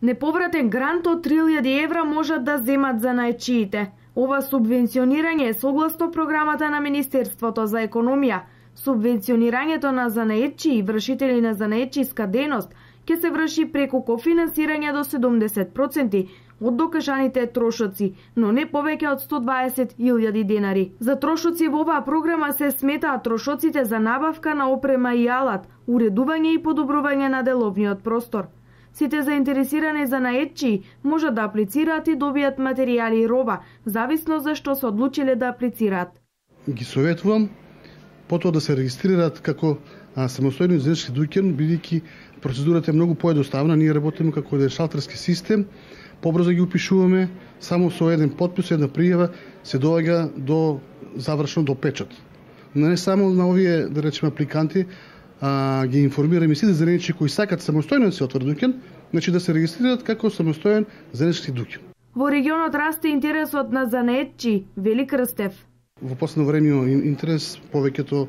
Неповратен грант од 3000 евра можат да земат занаетчиите. Ова субвенционирање е согласно програмата на Министерството за економија. Субвенционирањето на занаетчи и вршители на занаетчиска дејност ќе се врши преку кофинансирање до 70% од докажаните трошоци, но не повеќе од 120.000 денари. За трошоци во оваа програма се сметаат трошоците за набавка на опрема и алат, уредување и подобрување на деловниот простор. Сите заинтересирани занаетчи можат да аплицираат и добијат материјали и роба, зависно за што се одлучиле да аплицираат. Ги советувам потоа да се регистрираат како самостојни занаетчиски дуќан, бидејќи процедурата е многу поедноставна. Ние работиме како еден шалтерски систем, побрзо ги упишуваме, само со еден потпис, една пријава се доаѓа до завршено до печат. Но не само на овие, да речеме, апликанти, ги информираме сите занаетчи кои сакат самостојно да се отворат дуќан, значи да се регистрираат како самостоен занаетчиски дуќан. Во регионот расте интересот на занаетчи, вели Крстев. Во последно време интерес повеќето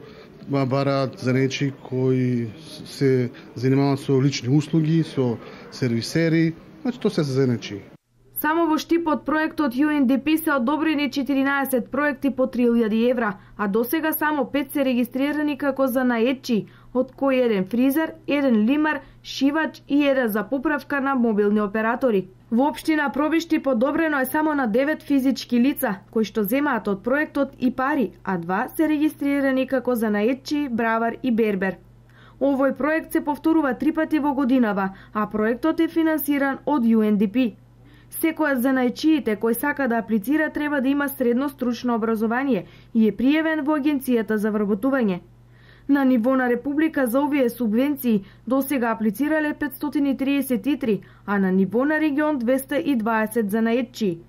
бараат занаетчи кои се занимаваат со лични услуги, со сервисери, значи тоа се занаетчи. Само во штипот проектот UNDP се одобрени 14 проекти по 3000 евра, а досега само 5 се регистрирани како занаетчи, од кои еден фризер, еден лимар, шивач и еден за поправка на мобилни оператори. Во општина Пробишти подобрено е само на 9 физички лица, кои што земаат од проектот и пари, а 2 се регистрирани како занаетчи, бравар и бербер. Овој проект се повторува 3 пати во годинава, а проектот е финансиран од UNDP. Секој од занаетчиите кој сака да аплицира треба да има средно стручно образование и е пријавен во Агенцијата за вработување. На ниво на Република за овие субвенции досега аплицирале 533, а на ниво на регион 220 занаетчи.